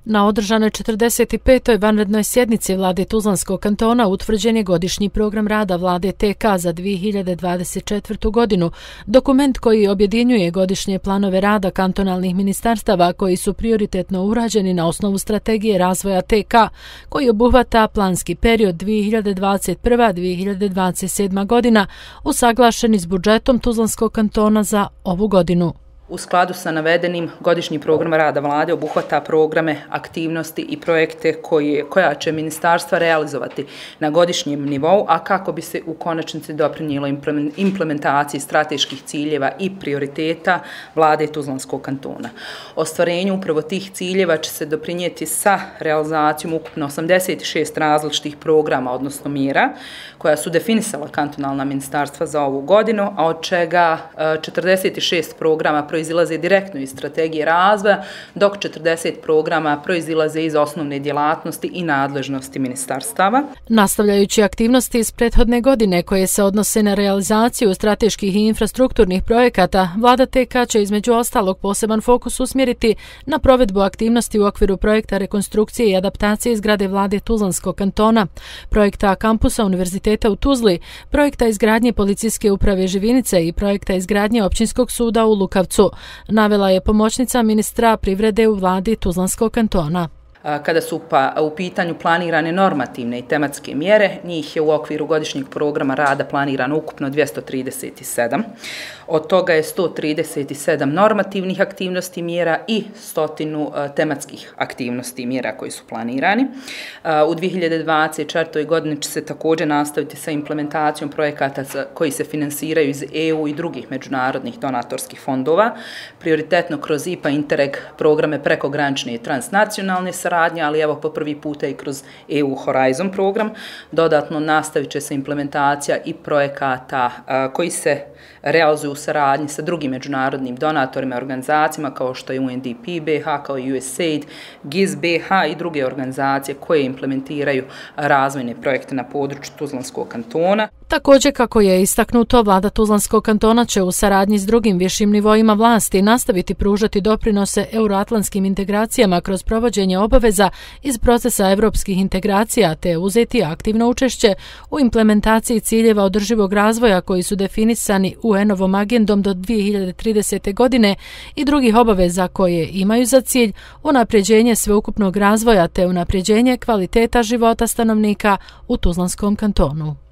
Na održanoj 45. vanrednoj sjednici Vlade Tuzlanskog kantona utvrđen je godišnji program rada Vlade TK za 2024. godinu, dokument koji objedinjuje godišnje planove rada kantonalnih ministarstava koji su prioritetno urađeni na osnovu strategije razvoja TK, koji obuhvata planski period 2021-2027. godina, usaglašeni s budžetom Tuzlanskog kantona za ovu godinu. U skladu sa navedenim, godišnji program rada vlade obuhvata programe, aktivnosti i projekte koja će ministarstva realizovati na godišnjem nivou, a kako bi se u konačnici doprinijelo implementaciji strateških ciljeva i prioriteta vlade Tuzlanskog kantona. Ostvarenju upravo tih ciljeva će se doprinijeti sa realizacijom ukupno 86 različitih programa, odnosno mjera, koja su definisala kantonalna ministarstva za ovu godinu, a od čega 46 programa proizilaze direktno iz strategije razvoja, dok 40 programa proizilaze iz osnovne djelatnosti i nadležnosti ministarstava. Nastavljajući aktivnosti iz prethodne godine koje se odnose na realizaciju strateških i infrastrukturnih projekata, Vlada TK će između ostalog poseban fokus usmjeriti na provedbu aktivnosti u okviru projekta rekonstrukcije i adaptacije zgrade Vlade Tuzlanskog kantona, projekta kampusa Univerziteta u Tuzli, projekta izgradnje policijske uprave Živinice i projekta izgradnje općinskog suda u Lukavcu, navela je pomoćnica ministra privrede u Vladi Tuzlanskog kantona. Kada su u pitanju planirane normativne i tematske mjere, njih je u okviru godišnjeg programa rada planirano ukupno 237. Od toga je 137 normativnih aktivnosti mjera i 100 tematskih aktivnosti mjera koji su planirani. U 2024. godini će se također nastaviti sa implementacijom projekata koji se finansiraju iz EU i drugih međunarodnih donatorskih fondova, prioritetno kroz IPA Interreg programe prekogranične i transnacionalne saradnje, ali evo po prvi puta i kroz EU Horizon program. Dodatno nastavit će se implementacija i projekata koji se realizuju u saradnji sa drugim međunarodnim donatorima i organizacijama kao što je UNDP BH, kao i USAID, GIZ BH i druge organizacije koje implementiraju razvojne projekte na području Tuzlanskog kantona. Također, kako je istaknuto, Vlada Tuzlanskog kantona će u saradnji s drugim višim nivoima vlasti nastaviti pružati doprinose euroatlantskim integracijama kroz provođenje obaveza iz procesa evropskih integracija te uzeti aktivno učešće u implementaciji ciljeva održivog razvoja koji su definisani UN-ovom agendom do 2030. godine i drugih obaveza koje imaju za cilj unapređenje sveukupnog razvoja te unapređenje kvaliteta života stanovnika u Tuzlanskom kantonu.